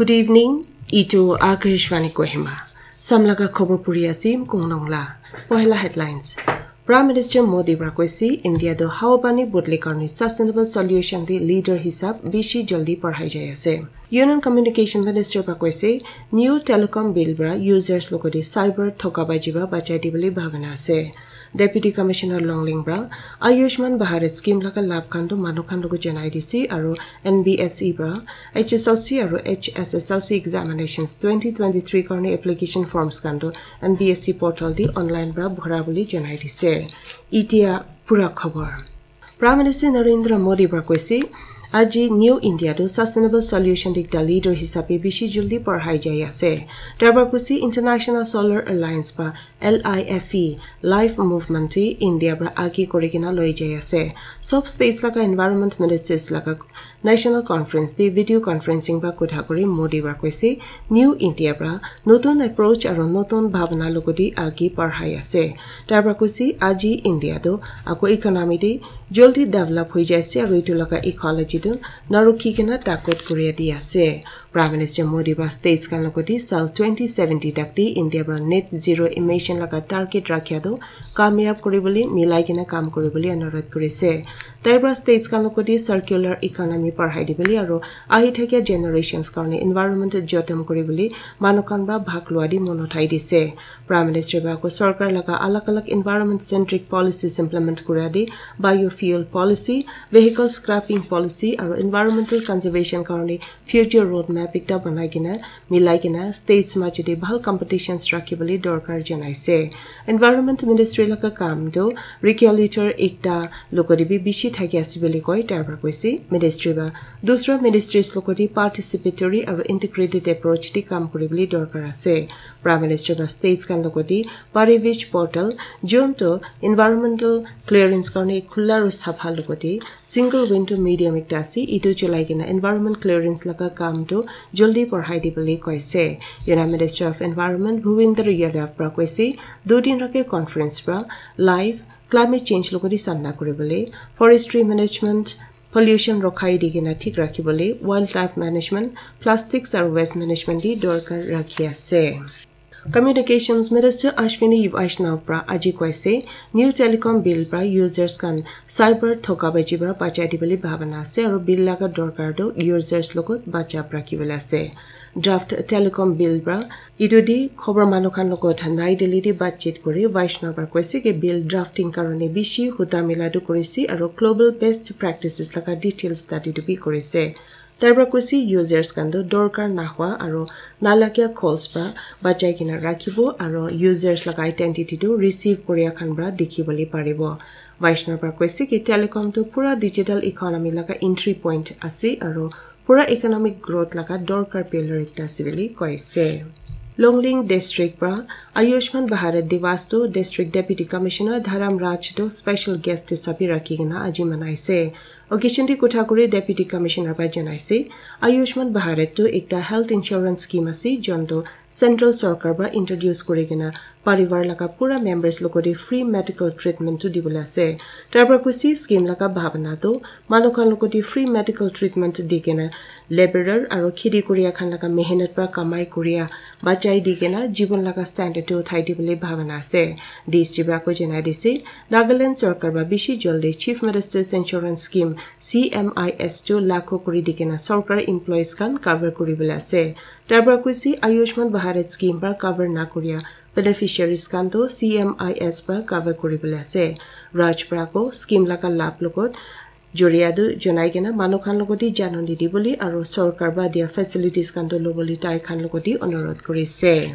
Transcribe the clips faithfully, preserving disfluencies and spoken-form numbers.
Good evening, itu Akashvani Kohima. Samlaga khobor puri asim kungnong la. Pohela headlines. Prime Minister Modi pra koise India do hawa pani bodli karni sustainable solution di leader hisab bishi jaldi parhai jai ase. Union Communication Minister pra koise new telecom bill pra users logodi cyber thoka baji pra bachai dibole bhabana ase. Deputy Commissioner Longling pra Ayushman Bharat scheme laga labh khan to manu khan logo janai dise aru N B S E pra H S L C aru H S S L C examinations twenty twenty-three karni application forms khan to N B S E portal di online pra bhora bole janai dise. Itia pura khobor. Prime Minister Narendra Modi pra koise, aji New India to sustainable solution dikta leader hisabe bishi jaldi parhai jai ase. Tar pra koise International Solar Alliance pra L I F E life movement ti India pra agi kuri kena loi jai ase. Sob states laga environment ministers laga national conference ti video conferencing pra kotha kuri Modi pra koise, New India pra notun approach aru notun bhabna logodi agi parhai ase. Tar pra koise aji India to ako economy ti jaldi develop hoi jai ase aru itu laga ecology tu narukhi kena takot kuri di ase. Prime Minister Modi pra states khan logodi sal twenty seventy tak ti India pra net zero emission laga target rakhia tu kamyab kuri bole milai kena kam kuri bole anurodh kuri ase. Tai pra states khan logodi circular economy parhai di bole aru ahi thakia generations karni environment jotom kuri bole manu khan pra bhag lua di mon uthai dise. Prime Minister pra ako sorkar laga alag alag environment centric policies implement kura di biofuel policy, vehicle scrapping policy aru environmental conservation karni future roadmap ekta banai kena milai kena states majot te bhal competitions rakhi bole dorkar janai ase. Environment Ministry laga kam to regulator ekta logodi bi bishi thaki ase bole koi tar pra koise. Ministry pra dusra ministries logodi participatory aru integrated approach di kam kuri bole dorkar ase. Prime Minister pra states khan logodi Parivesh portal, jun to environmental clearance karni khula aru sapha logodi single window medium ekta ase, itu cholai kena environment clearance laga kam tu jaldi parhai di bole koise. Union Minister of Environment Bhupender Yadav pra koise, dudin rake conference pra life, climate change logodi samna kuri bole, forestry management, pollution rokhai di kena thik rakhi bole, wildlife management, plastics aru waste management di dorkar rakhi ase. Communications Minister Ashwini Vaishnaw pra aji koise, new telecom bill pra users khan cyber thoka baji pra bachai di bole bhabana ase aru bill laga dorkar tu users logot bachap rakhi bole ase. Draft telecom bill pra itu di khobor manu khan logot Nai Delhi di batchit kuri Vaishnaw pra koise ki bill drafting karone bishi huta mila tu kurise aru global best practices laga details study tu bi kurise. Tai pra koise users khan tu dorkar nahwa aru nalagia calls pra bachai kena rakhibo aru users laga identity tu receive kuria khan pra dikhi bole paribo. Vaishnaw pra koise ki telecom tu pura digital economy laga entry point ase aru pura economic growth laga dorkar pillar ekta ase bole koise. Longling district pra Ayushman Bharat Diwas tu District Deputy Commissioner Dharam Raj tu special guest hisabe rakhi kena aji manaise. Occasion te kotha kuri Deputy Commissioner pra janaise, Ayushman Bharat tu ekta health insurance scheme ase, jon tu central sorkar pra introduce kuri kena parivar laga pura members logot te free medical treatment tu dibole ase. Tar pra koise scheme laga bhabana tu manu khan logot te free medical treatment di kena laborer aru kheti kuria khan laga mehnat pra kamai kuria bachai di kena jibon laga standard tu uthai di bole bhabana ase. D C pra ko janai dise, Nagaland sorkar pra bishi jaldi Chief Minister's Insurance Scheme, C M I S tu lagu kuri di kena sorkar employees khan cover kuri bole ase. Tar pra koise Ayushman Bharat scheme pra cover na kuria beneficiaries khan tu C M I S pra cover kuri bole ase. Raj pra ko scheme laga labh logot joria tu janai kena manu khan logot te janani di bole aru sorkar pra dia facilities khan tu lobole tai khan logot te onurodh kurise.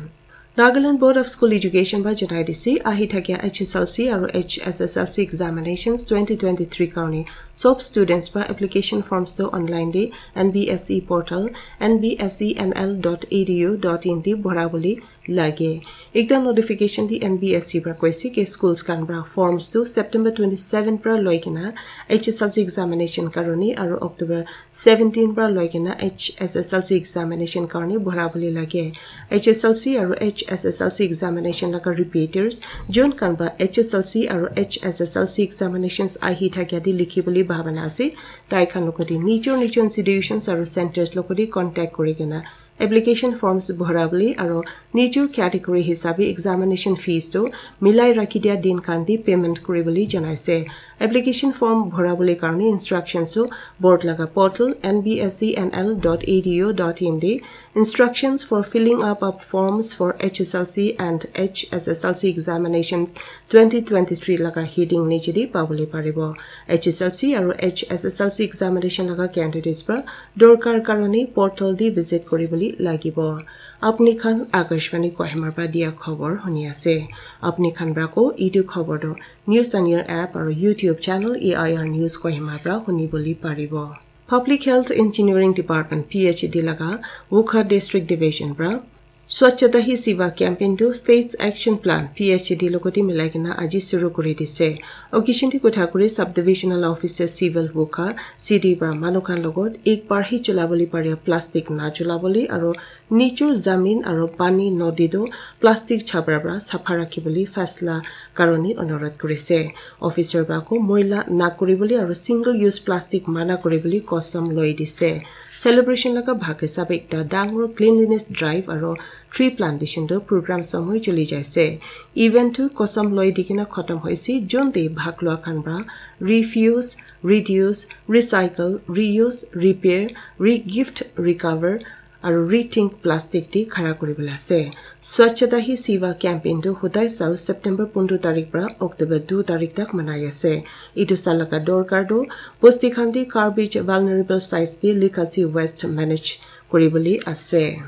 Nagaland Board of School Education pra janai dise, ahi thakia H S L C aru H S S L C examinations twenty twenty-three karne sob students pra application forms tu online te N B S E portal, N B S E N L dot E D U dot in te bhora bole lage. Ekta notification te N B S E pra koise ki schools khan pra forms tu September twenty-seven pra loi kena H S L C examination karone aru October seventeen pra loi kena H S S L C examination karne bhora bole lage. H S L C aru H S S L C examination laga repeaters, jun khan pra H S L C aru H S S L C examinations ahi thakia te likhi bole bhabana ase, tai khan logot te nijor nijor institutions aru centers logot te contact kuri kena Application forms bhorabole aro nijor category hisabe examination fees tu milai rakhi dia din khan te payment kuribole janaise. Application form bhorabole karone instructions tu board laga portal N B S E N L dot A D U dot in te Instructions for filling up of forms for H S L C and H S S L C examinations twenty twenty-three laga heading niche te pabole paribo. H S L C aro H S S L C examination laga candidates pra dorkar karone portal te visit kuribole lagibo. Apni khan Akashvani Kohima pra dia khobor huni ase. Apni khan pra ko etu khobor tu News on Air app aro YouTube channel A I R News Kohima pra huni bole paribo. Public Health Engineering Department P H D laga Wokha District Division pra Swachhata Hi Seva campaign tu States Action Plan P H D logote milai kena aji suru kuri dise. Occasion te kotha kuri Subdivisional Officer Civil Wokha C D pra manu khan logot ek bar hi chulabole paria plastic na chulabole aro nijor zamin aro pani nodi tu plastic chabra pra sapha rakhibole fasla karone onurodh kurise. Officer pra ko moila na kuribole aro single use plastic mana kuribole kosam loi dise. Celebration laga bhag hisabe ekta dangor cleanliness drive aro tree plantation tu program somoy choli jaise. Event tu kosam loi dikena khatam hoise, jon te bhag lua khan pra refuse, reduce, recycle, reuse, repair, re-gift, recover, aro rethink plastic te khara kuribole ase. Swachhata Hi Seva campaign tu hodai sal September pondro tarik pra October dui tarik tak manai ase. Etu sal laga dorkar tu bosti khan te garbage vulnerable sites te legacy waste manage kuribole ase.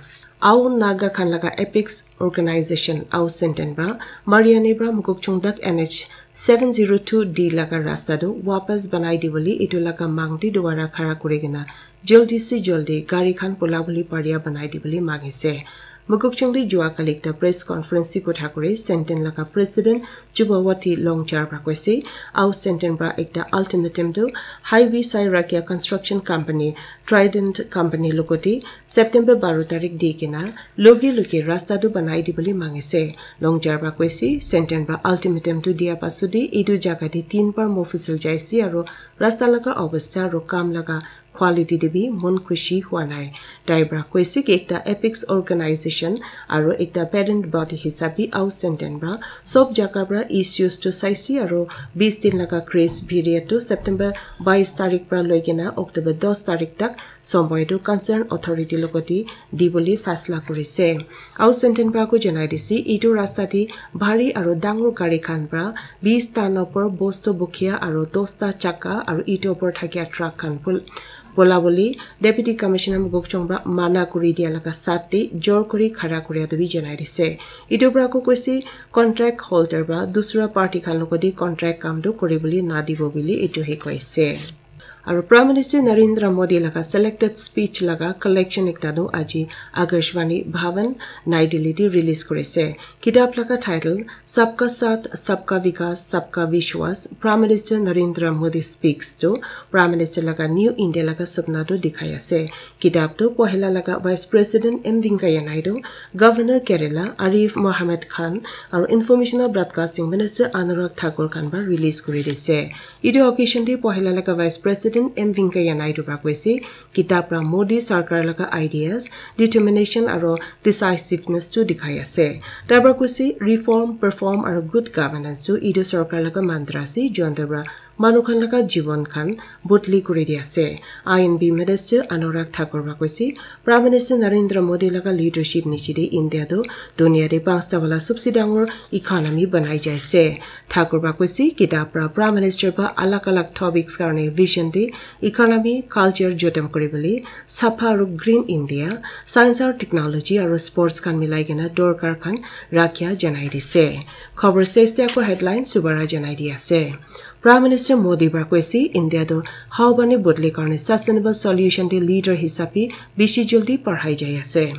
Ao Naga khan laga apex organization Ao Senten pra Mariani pra Mokokchung tak N H seven zero two D laga rasta tu wapas banai dibole etu laga mang te duara khara kuri kena jaldi se jaldi gari khan polabole paria banai dibole mangise. Mokokchung te jua kali ekta press conference te kotha kuri Senten laga president Chubawati Longchar pra koise, Ao Senten pra ekta ultimatum tu highway sai rakhia construction company Trident company logote September baro tarik di kena loge loge rasta tu banai dibole mangise. Longchar pra koise, Senten pra ultimatum tu dia pasode etu jaga te tin bar mofusal jaise aro rasta laga obostha aro kam laga quality te bi mon khushi hua nai. Tai pra koise ki ekta apex organization aro ekta parent body hisabe Ao Senten pra sob jaga pra issues tu saise aro bis din laga grace period tu September bais tarik pra loi kena October dos tarik tak somoy tu concern authority logote dibole fasla kurise. Ao Senten pra ko janai dise, etu rasta te bhari aro dangor gari khan pra bis ton opor bosto bukhia aro dosta chakka aro etu opor thakia truck khan pul-, polabole Deputy Commissioner Mokokchung pra mana kuri dia laga sat te jor kuri khara kuria tu bi janai dise. Etu pra ko koise contract holder pra dusra party khan logote contract kam tu kuribole na dibo bole etu he koise. Aru Prime Minister Narendra Modi laga selected speech laga collection ekta tu aji Akashvani Bhavan, Nai Delhi te release kurise. Kitab laga title Sabka Saath, Sabka Vikas, Sabka Vishwas, Prime Minister Narendra Modi Speaks tu Prime Minister laga New India laga sapna tu dikhai ase. Kitab tu pohila laga Vice President M Venkaiah Naidu, Governor Kerala Arif Mohammad Khan, aru Information and Broadcasting Minister Anurag Thakur khan para release kuri dise. Etu occasion te pohila laga Vice President M Venkaiah Naidu para koise, kitab para Modi sarkar laga ideas, determination aru decisiveness tu dikhai ase. Tai para koise, reform, perform aru good governance tu etu sarkar laga mantra ase, jonte para manu khan laga jiwan khan bodli kuri di ase. I and B Minister Anurag Thakur para koise, Prime Minister Narendra Modi laga leadership niche te India tu dunia te panchta wala sabse dangor economy banai jai ase. Thakur para koise, kitab para Prime Minister para alag alag topics karne vision te economy, culture jotem kuri bole, sapha aru green India, science aru technology aru sports khan milai kena dorkar khan rakhia janai dise. Khobor ses te ako headline subara janai di ase. Prime Minister Modi para koise, India tu hawa pani bodli karne sustainable solution te leader hisabe bishi jaldi parhai jai ase.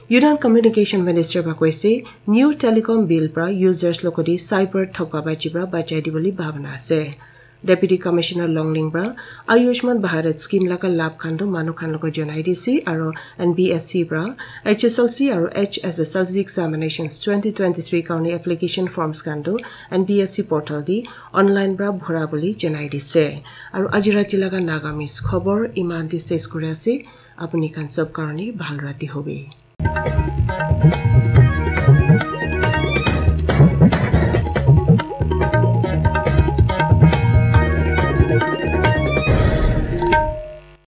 Union Communication Minister para koise, new telecom bill para users logote cyber thokabajee para bachai dibole bhabana ase. Deputy Commissioner Longling pra Ayushman Bharat scheme laga labh khan tu manu khan logot jonai dise aro N B S C pra H S L C aro H S S L C examinations twenty twenty-three karone application forms khan tu N B S C portal di online pra bhora bole jonai dise. Aro aji rati laga Nagamese khobor iman te ses kuri ase. Apuni khan sob karone bhal rati hobe.